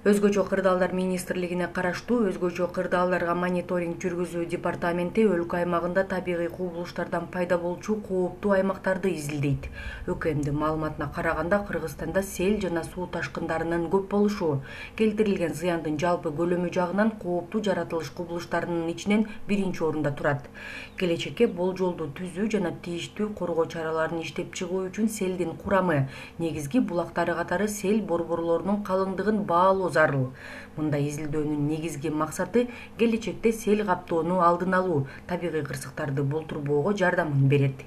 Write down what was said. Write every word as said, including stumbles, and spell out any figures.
Өзгөчө кырдаалдар министрлигине караштуу өзгөчө кырдаалдарга мониторинг жүргүзүү департаменти өлкө аймагында табигый кубулуштардан пайда болчу кооптуу аймактарды изилдейт. ӨКМдин маалыматына караганда, Кыргызстанда сел жана суу ташкындарынын көп болушу, келтирилген зыяндын жалпы көлөмү жагынан кооптуу жаратылыш кубулуштарынын ичинен биринчи орунда турат. Келечекке болжолду түзүү жана тийиштүү коргоо чараларын иштеп чыгуу үчүн селдин курамы, негизги булактары катары сел борборлорунун калыңдыгын баалоо зарыл. Мындай изилдөөнүн негизги максаты келечекте сел каптоону алдын алуу, табигый кырсыктарды болтурбоого жардамын берет.